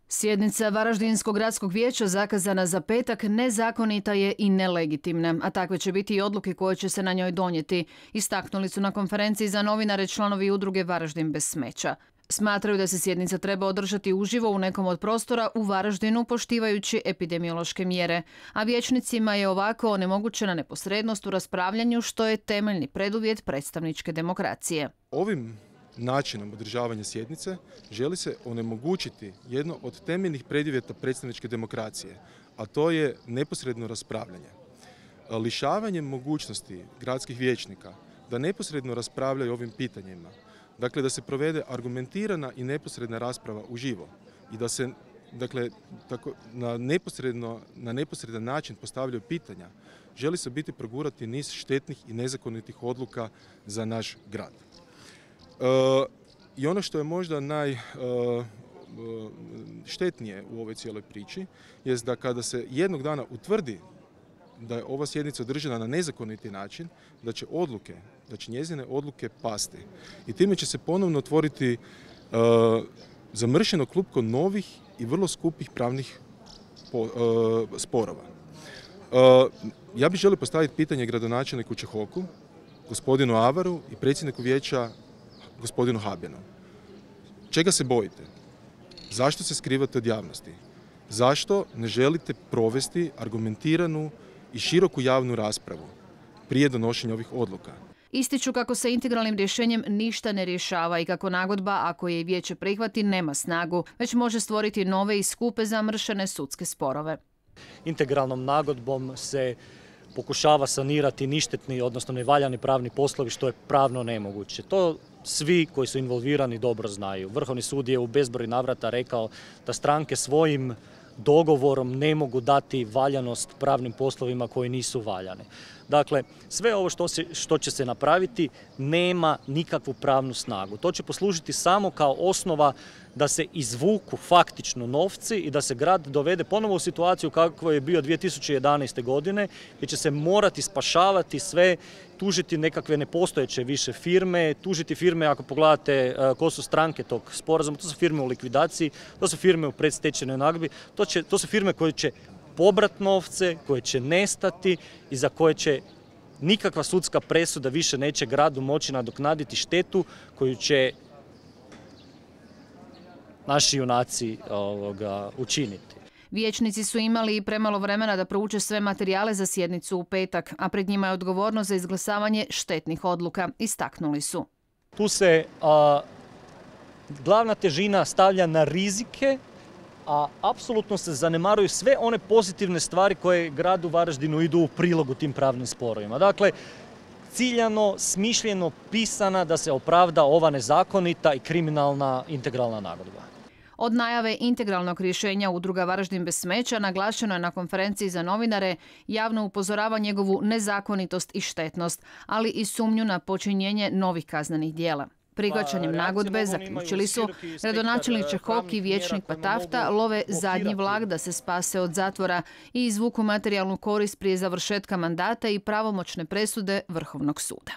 Sjednica Varaždinskog gradskog vijeća zakazana za petak nezakonita je i nelegitimna, a takve će biti i odluke koje će se na njoj donijeti, istaknuli su na konferenciji za novinare članovi udruge Varaždin bez smeća. Smatraju da se sjednica treba održati uživo u nekom od prostora u Varaždinu poštivajući epidemiološke mjere, a vijećnicima je ovako onemogućena neposrednost u raspravljanju što je temeljni preduvjet predstavničke demokracije. Ovim načinom održavanja sjednice želi se onemogućiti jedno od temeljnih preduvjeta predstavničke demokracije, a to je neposredno raspravljanje. Lišavanjem mogućnosti gradskih vijećnika da neposredno raspravljaju ovim pitanjima, dakle da se provede argumentirana i neposredna rasprava uživo i da se na neposredan način postavljaju pitanja, želi se biti progurati niz štetnih i nezakonitih odluka za naš grad. I ono što je možda najštetnije u ovoj cijeloj priči jest da kada se jednog dana utvrdi da je ova sjednica održana na nezakoniti način, da će njezine odluke pasti. I time će se ponovno otvoriti zamršeno klupko novih i vrlo skupih pravnih sporova. Ja bih želio postaviti pitanje gradonačelniku Čehoku, gospodinu Avaru i predsjedniku vijeća gospodinu Habjanu. Čega se bojite? Zašto se skrivate od javnosti? Zašto ne želite provesti argumentiranu i široku javnu raspravu prije donošenja ovih odluka? Ističu kako se integralnim rješenjem ništa ne rješava i kako nagodba, ako je vijeće prihvati, nema snagu, već može stvoriti nove i skupe zamršene sudske sporove. Integralnom nagodbom se pokušava sanirati ništetni, odnosno nevaljani pravni poslovi, što je pravno nemoguće. To svi koji su involvirani dobro znaju. Vrhovni sud je u bezbroj navrata rekao da stranke svojim dogovorom ne mogu dati valjanost pravnim poslovima koji nisu valjani. Dakle, sve ovo što će se napraviti nema nikakvu pravnu snagu. To će poslužiti samo kao osnova da se izvuku faktično novci i da se grad dovede ponovo u situaciju kakvo je bio 2011. godine, gdje će se morati spašavati sve, tužiti nekakve nepostojeće više firme, tužiti firme, ako pogledate ko su stranke tog sporazuma, to su firme u likvidaciji, to su firme u predstečajnoj nagodbi, to su firme koje će pobrat novce, koje će nestati i za koje će nikakva sudska presuda više neće gradu moći nadoknaditi štetu koju će naši junaci učiniti. Vijećnici su imali i premalo vremena da prouče sve materijale za sjednicu u petak, a pred njima je odgovornost za izglasavanje štetnih odluka, istaknuli su. Tu se glavna težina stavlja na rizike, a apsolutno se zanemaruju sve one pozitivne stvari koje gradu Varaždinu idu u prilogu tim pravnim sporovima. Dakle, ciljano, smišljeno, pisana da se opravda ova nezakonita i kriminalna integralna nagodba. Od najave integralnog rješenja udruga Varaždin bez smeća naglašeno je na konferenciji za novinare javno upozorava njegovu nezakonitost i štetnost, ali i sumnju na počinjenje novih kaznenih djela. Prihvaćanjem nagodbe, zaključili su, gradonačelnik Čehok i vijećnik Patafta love zadnji vlak da se spase od zatvora i izvuku materijalnu korist prije završetka mandata i pravomoćne presude Vrhovnog suda.